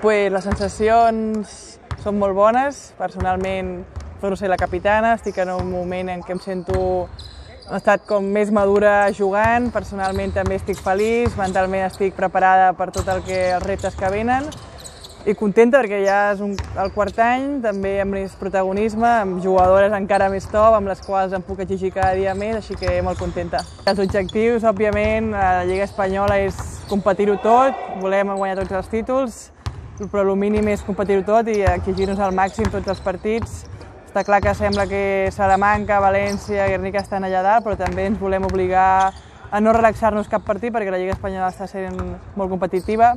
Pues les sensacions són molt bones. Personalment, torno a ser la capitana, estic en un moment en què em sento he estat com més madura jugant, personalment també estic feliç, mentalment estic preparada per tot els reptes que venen i contenta perquè ja és el quart any, també amb més protagonisme, amb jugadores encara més top, amb les quals em puc exigir cada dia més, així que molt contenta. Els objectius, òbviament, a la Lliga Espanyola és competir-ho tot, volem guanyar tots els títols, però el mínim és competir-ho tot i exigir-nos al màxim tots els partits. Està clar que sembla que Salamanca, València, Guernica estan allà dalt, però també ens volem obligar a no relaxar-nos cap partit perquè la Lliga Espanyola està sent molt competitiva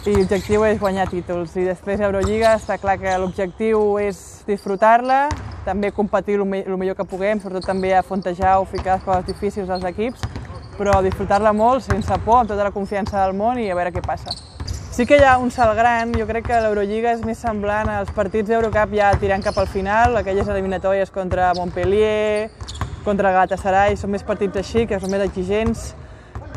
i l'objectiu és guanyar títols. I després Eurolliga està clar que l'objectiu és disfrutar-la, també competir el millor que puguem, sobretot també a Fontejau, ficar les coses difícils als equips, però disfrutar-la molt, sense por, amb tota la confiança del món i a veure què passa. Sí que hi ha un salt gran, jo crec que l'Eurolliga és més semblant als partits d'Eurocup ja tirant cap al final, aquelles eliminatòries contra Montpellier, contra el Galatasaray, són més partits així, que són més exigents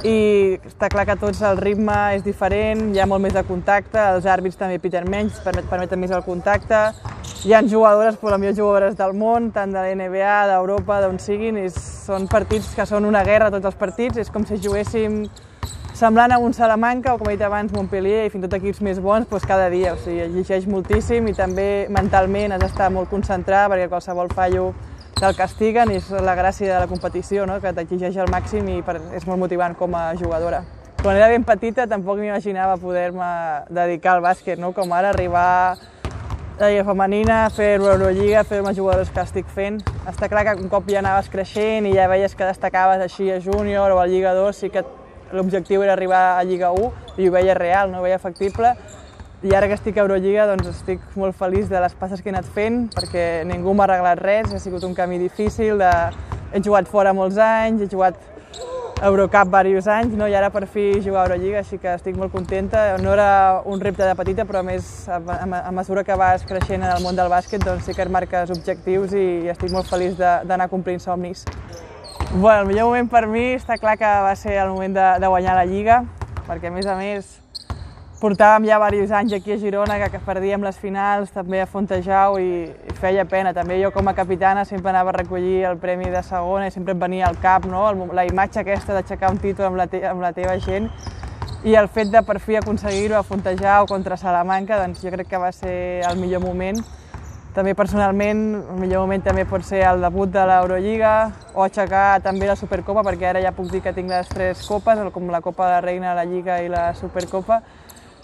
i està clar que tots el ritme és diferent, hi ha molt més de contacte, els àrbits també piten menys, permeten més el contacte, hi ha jugadores, les millors jugadores del món, tant de la NBA, d'Europa, d'on siguin, i són partits que són una guerra tots els partits, és com si juguéssim semblant a un Salamanca o, com he dit abans, Montpellier i fins i tot equips més bons cada dia. O sigui, exigeix moltíssim i també mentalment has d'estar molt concentrat perquè qualsevol fallo te'l castiguen i és la gràcia de la competició, no? Que t'exigeix al màxim i és molt motivant com a jugadora. Quan era ben petita tampoc m'imaginava poder-me dedicar al bàsquet, no? Com ara arribar a la Lliga Femenina, fer l'Eurolliga, fer els jugadors que estic fent. Està clar que un cop ja anaves creixent i ja veies que destacaves així a júnior o a Lliga 2, sí que l'objectiu era arribar a Lliga 1 i ho veia real, no ho veia factible. I ara que estic a Eurolliga doncs estic molt feliç de les passes que he anat fent perquè ningú m'ha arreglat res, ha sigut un camí difícil, he jugat fora molts anys, he jugat a Eurocup diversos anys i ara per fi jugar a Eurolliga, així que estic molt contenta. No era un repte de petita, però a més a mesura que vas creixent en el món del bàsquet doncs sí que et marques objectius i estic molt feliç d'anar complint somnis. Bueno, el millor moment per mi està clar que va ser el moment de guanyar la Lliga, perquè a més portàvem ja diversos anys aquí a Girona que perdíem les finals, també a Fontejau i feia pena. També jo com a capitana sempre anava a recollir el premi de segona i sempre em venia al cap, no? La imatge aquesta d'aixecar un títol amb la teva gent i el fet de per fi aconseguir-ho a Fontejau contra Salamanca, doncs jo crec que va ser el millor moment. També personalment, el millor moment també pot ser el debut de l'Eurolliga o aixecar també la Supercopa, perquè ara ja puc dir que tinc les 3 copes, com la Copa de la Reina, la Lliga i la Supercopa.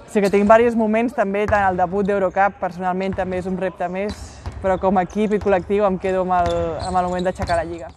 O sigui que tinc diversos moments, també tant el debut d'Eurocup, personalment també és un repte més, però com a equip i col·lectiu em quedo amb el moment d'aixecar la Lliga.